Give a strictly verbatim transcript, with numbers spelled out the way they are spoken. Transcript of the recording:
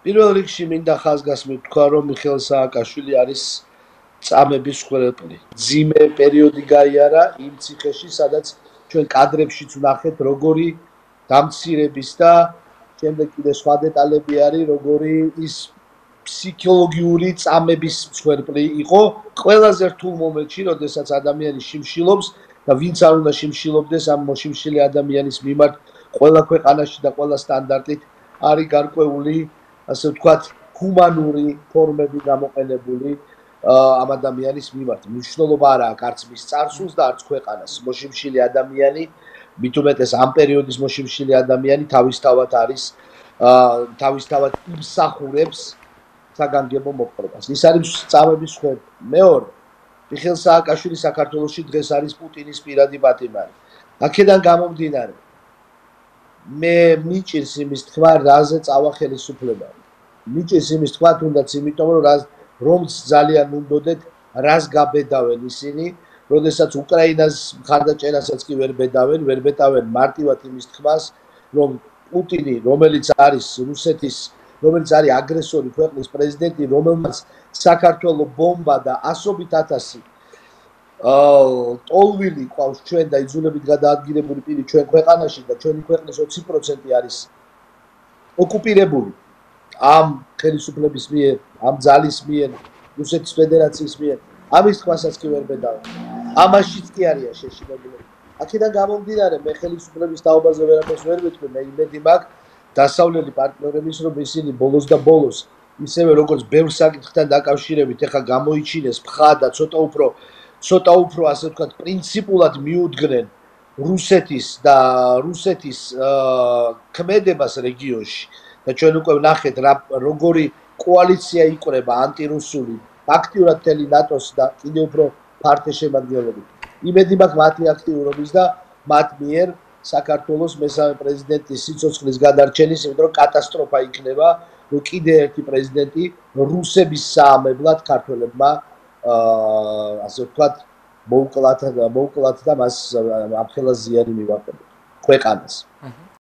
პირველ რიგში მინდა ხაზგასმით თქვა, რომ მიხეილ სააკაშვილი არის წამების ხვრელპლი. ძიმე პერიოდი გაიარა იმ ციხეში, სადაც ჩვენ კადრებშიც ვნახეთ, როგორი დამცირების და შემდეგ კიდე სხვა დეტალები არის, როგორი ის ფსიქოლოგიური წამების ხვრელპლი იყო ყველაზე რთულ მომენტში, როდესაც ადამიანი შიმშილობს და ვინც არ უნდა შიმშილობდეს ამ მოშიმშილი ადამიანის მიმართ ყველა ქვეყანაში და ყველა სტანდარტით არის გარკვეული ასე ვთქვათ, ჰუმანური ფორმები გამოყენებული ამ ადამიანის მიმართ. მნიშვნელობა არ აქვს არც მის წარსულს და არც ქვეყანას. მოშიმშილი ადამიანი, მით უმეტეს ამ პერიოდის მოშიმშილი ადამიანი თავისთავად არის თავისთავად იმსახურებს საგანგებო მოპყრობას. ის არის წამების ხვრელი. მეორე, მიხეილ სააკაშვილი საქართველოში დღეს არის პუტინის პირადი პატიმარი. აქედან გამომდინარე, მე მიჭირს იმის თქვა, რაზე წავა ხელისუფლება. მიჭირს იმის თქვა, თუნდაც იმიტომ, რომ რომც ძალიან უნდოდეთ, რას გაბედავენ ისინი, როდესაც უკრაინას მხარდაჭერასაც კი ვერ ბედავენ, ვერ ბედავენ მარტივად იმის თქმას, რომ პუტინი, რომელიც არის რუსეთის, რომელიც არის აგრესორი ქვეყნის პრეზიდენტი, რომელმაც საქართველოს ბომბა და ასობით ათასი ტოლვილი ყავს ჩვენ და იძულებით გადაადგილებული პირი ჩვენ ქვეყანაში და ჩვენი ქვეყნის ოცი პროცენტი არის ოკუპირებული ამ ხელისუფლების მიერ, ამ ძალის მიერ, რუსეთის ფედერაციის მიერ, ამის თქმასაც კი ვერ ბედავენ. ამაშიც კი არის შეშინებული. აქედან გამომდინარე, მე ხელისუფლების თაობაზე ვერაფერს ვერ ვიტყვი, მე იმედი მაქვს დასავლელი პარტნიორების, რომ ისინი ბოლოს და ბოლოს ისევე როგორც ბევრ საკითხთან დაკავშირებით ეხლა გამოიჩინეს მხა და ცოტა უფრო ცოტა უფრო ასე ვთქვათ პრინციპულად მიუდგნენ რუსეთის და რუსეთის ქმედებას რეგიონში და ჩვენ უკვე ვნახეთ როგორი კოალიცია იკვრება ანტირუსული აქტიურად მთელი ნატოს და კიდევ უფრო ფართე შემადგენლობით. იმედი მაქვს მათი აქტიურობის და მათ მიერ საქართველოს მესამე პრეზიდენტის სიცოცხლის გადარჩენის, იმიტომ რომ კატასტროფა იქნება, რომ კიდე ერთი პრეზიდენტი რუსების საამებლად ქართველებმა ასე ვთქვათ მოუკლათ და მოუკლათ და მას ამხელა ზიანი მივაყენოთ ქვეყანას.